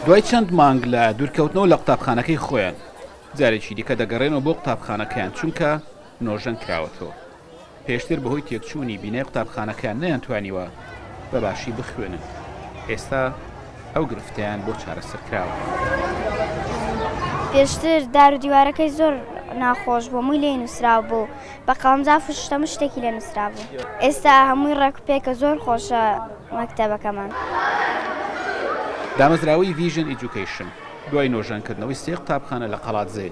دوای چەند مانگ لە دوورکەوتنەوە لە قوتابخانەکەی خۆیان، جارێکی دیکە دەگەڕێنەوە بۆ قوتابخانەکەیان، چونکە نۆژەن کراوەتەوە. پێشتر بەهۆی تێکچوونی بینای قوتابخانەکەیان نەیانتوانیوە بە باشی بخوێنن، ئێستا ئەو گرفتەیان بۆ چارەسەر کراوە. پێشتر دار و دیوارەکەی زۆر ناخۆش بوو، هەمووی لێی نووسراو بوو، بە قەڵەمجاف و شتەموو شتێکی لێ نووسرابوو. ئێستا هەمووی ڕێک و پێکە، زۆر خۆشە مەکتەبەکەمان. دامەزراوەی ڤیژن ئیجوکەیشن دوای نۆژەنکردنەوەی سێ قوتابخانە لە قەڵادزێ،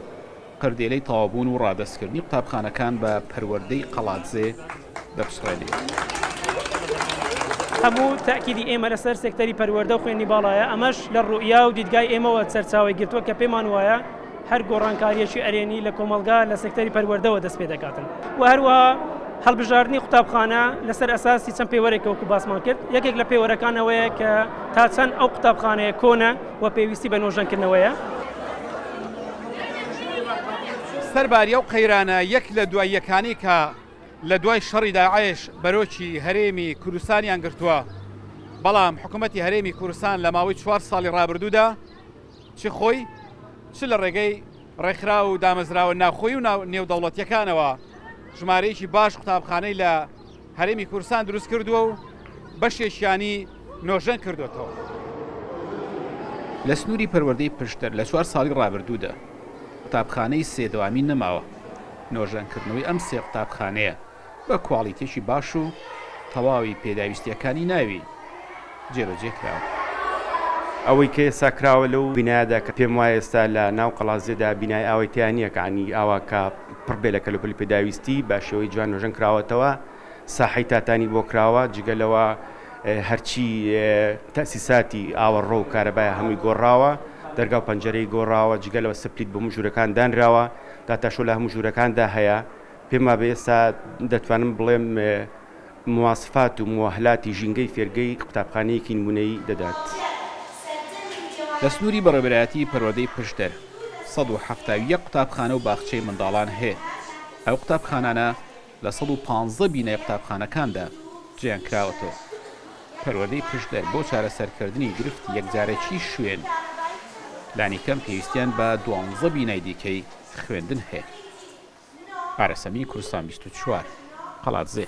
قردێلەی تەواوبوون و ڕادەستکردنی قوتابخانەکان بە پەروەردەی قەڵادزێ دەپچڕێنێ. هەموو تەئکیدی ئێمە لەسەر سێکتەری پەروەردە و خوێندنی باڵایە، ئەمەش لە ڕوئیا و دیدگای ئێمەوە سەرچاوەی گرتووە کە پێمان وایە هەر گۆڕانکارییەکی ئەرێنی لە کۆمەڵگا لە سێکتەری پەروەردەوە دەست پێ دەکاتن و هەروەها هەڵبژاردنی قوتابخانە لەسەر ئەساسی چەند پێوەرێکە وەکو باسمان کرد، یەکێک لە پێوەرەکان ئەوەیە کە تا چەند ئەو قوتابخانەیە کۆنە و پێویستی بە نۆژەنکردنەوەیە. سەرباری ئەو قەیرانە یەک لە دوای یەکانەی کە لە دوای شەڕی داعش بەرۆکی هەرێمی کوردستانیان گرتووە، بەڵام حکوومەتی هەرێمی کوردستان لە ماوەی چوار ساڵی ڕابردوودا چ خۆی چ لە ڕێگەی ڕێکخراو و دامەزراوە ناوخۆی و نێودەوڵەتییەکانەوە ژمارەیەکی باش قوتابخانەی لە هەرێمی کوردستان دروست کردووە و بەشێکیانی نۆژەن کردووەتەوە. لە سنووری پەروەردەی پشدەر لە چوار ساڵی ڕابردوودا قوتابخانەی سێ دەوامی نەماوە، نۆژەنکردنەوەی ئەم سێ قوتابخانەیە بە کواڵیتێکی باش و تەواوی پێداویستییەکانی ناوی جێبەجێ کراوە. ئەوەی کە ئێستا کراوە لەو بینایەدا کە پێم وایە ئێستا لە ناو قەڵادزێدا بینای ئاوای تیا نییە کە عنی ئاوا کە پڕ بێ لە کەلوپەلی پێداویستی بە شێوەی جوان نۆژەن کراوەتەوە ساحەی تاتانی بۆ کراوە جگە لەوە هەرچی تەسیساتی ئاوەڕۆ و کارەبایە هەمووی گۆڕاوە دەرگا و پەنجەرەی گۆڕاوە جگە لەوە سپلیت بۆ هەموو ژوورەکان دانراوە داتاشۆ لە هەموو ژوورەکاندا هەیە پێم وابێ ئێستا دەتوانم بڵێم مواسفات و موەهلاتی ژینگەی فێرگەی قوتابخانەیەکی نمونەیی دەدات. لە سنووری بەڕێوەبەرایەتی پەروەردەی پشدەر 171 قوتابخانە و باخچەی منداڵان هەیە، ئەو قوتابخانانە لە 115 بینای قوتابخانەکاندا جێیان کراوەتەوە. پەروەردەی پشدەر بۆ چارەسەرکردنی گرفتی یەکجارەکیی شوێن، لانیکەم پێویستیان بە دوانزە بینای دیکەی خوێندن هەیە. ئارەسەمی، کوردستان 24، قەڵادزێ.